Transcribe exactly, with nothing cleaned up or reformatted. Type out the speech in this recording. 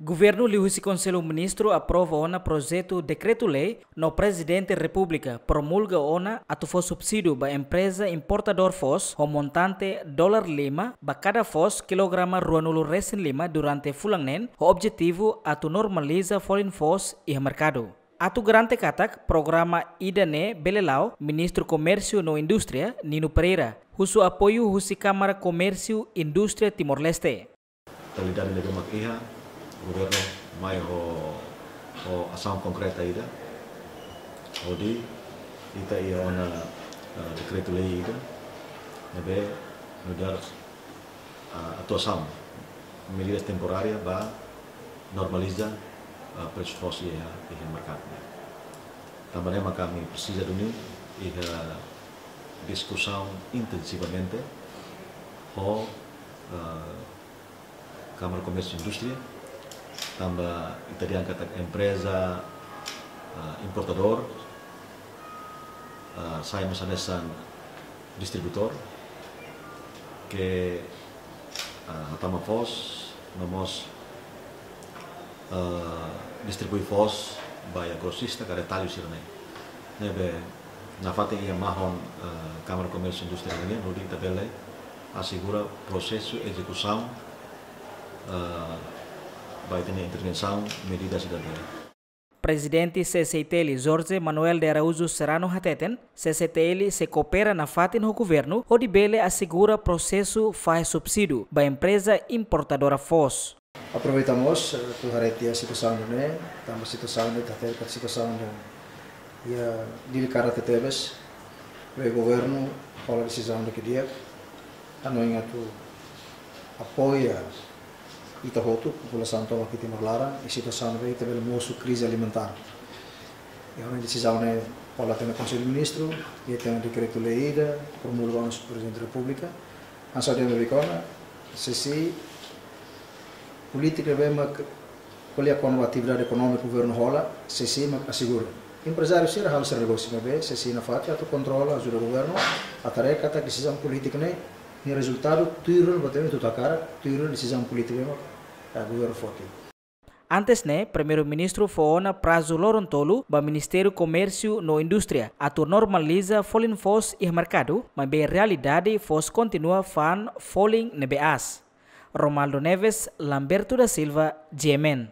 Governu liuhusi Konsellu Ministru aprova ona projetu dekretu-lei no Prezidente Repúblika promulga ona atu fó subsídiu ba empreza importadór foos ho montante dolar lima ba kada foos kilograma ruanulu resin lima durante fulan neen, ho objetivu atu normaliza folin foos iha merkadu. Atu garante katak programa ida-ne'e bele la'o, Ministru Komérsiu no Indústria, Nino Pereira, husu apoiu husi Kámara Komérsiu Indústria Timor-Leste. Realidade ne'ebé mak iha, governu mai ho, ho asaun konkreta ida. Hodi ita iha ona, eh, dekretu-lei ida ne'ebé nu'udar, eh, atuasaun, medidas temporárias ba normaliza, eh, presu foos iha, iha merkadu. Tanba ne'e mak ami presiza duni iha diskusaun intensivamente ho, eh, Kámara Komérsiu Indústria, tanba ita dehan katak empreza, ah, importadór, ah, sai mós hanesan distribuidór, ke, ah, hatama foos, no mós, ah, distribui foos ba iha grosista ka retallu sira-ne'e. Ne'ebé nafatin iha mahon, eh, Kámara Komérsiu Indústria nian, hodi ita bele asegura prosesu ezekusaun, eh, ba ita-nia intervensaun medidas ida-ne'e. Prezidente C C I T L, Jorge Manuel de Araújo Serrano hateten, C C I T L sei koopera nafatin ho governu hodi bele asegura prosesu fahe subsídiu ba empreza importadora foos. Aproveita mós, eh, atu haree tiha situasaun ne'e, tanba situasaun ne'e, ita hatene katak situasaun ne'e iha delikadu tebetebes, ne'ebé governu hola desizaun ida ke di'ak, hanoin atu apoia ita hotu, populasaun tomak iha Timor laran, iha situasaun ne'ebé ita bele mosu krize alimentár. I hanoin desizaun ne'e hola tiha ona Konsellu Ministru, i tiha ona dekretu-lei ida, promulga ona husi Prezidente Repúblika, hanesan dehan beibeik ona, C C I, polítika ne'ebé mak ko'alia kona-ba atividade ekonómika governu hola, C C I mak asegura. Emprezáriu sira halo sira negósiu, maibé C C I nafatin atu kontrola, ajuda governu, atu haree katak desizaun polítika ne'e, nia rezultadu tuir ona, buat ne'ebé ita hakarak, tuir ona desizaun polítika ne'ebé mak, eh, governu foti. Antes ne'e, Primeiru-Ministru fó ona prazu loron tolu ba Ministériu Komérsiu no Indústria atu normaliza folin foos iha merkadu, maibé realidade foos kontinua fa'an folin ne'ebé aas. Romaldo Neves, Lamberto da Silva, G M N.